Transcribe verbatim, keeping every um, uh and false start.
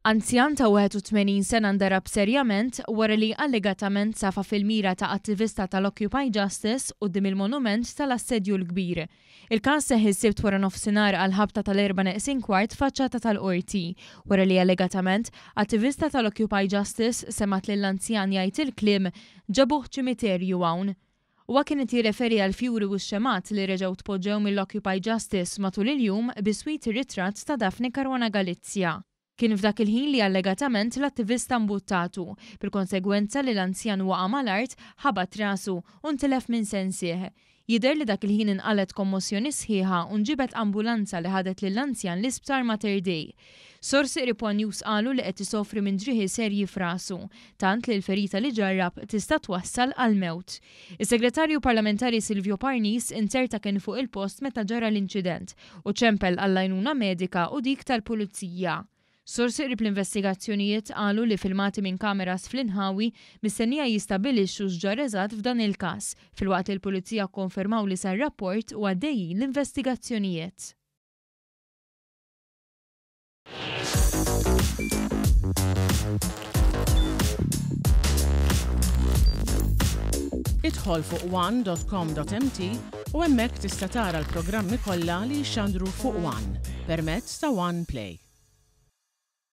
Anzjan ta' wieħed u tmenin sena ndarab serjament wara li allegatament safa fil-mira ta' attivista tal-Occupy Justice quddiem il-monument tal-Assedju l-Kbir. Il-każ seħħ is-Sibt wara nofsinhar għal ħabta tal-erba' neqsin kwart faċċata tal-qorti, wara li allegatament attivista tal-Occupy Justice semgħet lill-anzjan jgħid il-kliem "ġabuh ċimiterju hawn". Huwa kien qed jirreferi għal fjuri u xemgħat li reġgħu tpoġġew mill-Occupy Justice matul il-jum biswit ir-ritratt ta' Daphne Caruana Galizia. Kien f'dak il-ħin li allegatament l-attivista mbuttatu, bil-konsegwenza li l-anzjan waqa' mal-art, ħabat rasu u ntilef minn sensih. Jidher li dak il-ħin inqalet kommossjoni sħiħa u nġibet ambulanza li ħadet lill-anzjan l-isptar Mater Dei. Sorsi qrib One News qalu li qed isofri minn ġrieħi serji f'rasu, tant li l-ferita li ġarrab tista' twassal għal mewt. Is-segretarju parlamentari Silvio Parnis inzerta kien fuq il-post meta ġara l-inċident u ċempel għall-għajnuna medika u dik tal-pulizija. Sorsi qrib l-investigazzjonijiet qalu li filmati minn kameras fl-inħawi mistennija jistabilixxu x'ġara eżatt f'dan il-każ, filwaqt li l-pulizija konfermaw li sar rapport u għaddejjin l-investigazzjonijiet. Idħol fuq one dot com dot M T u hemmhekk tista' tara l-programmi kollha li jixxandru fuq One permezz ta' One Play.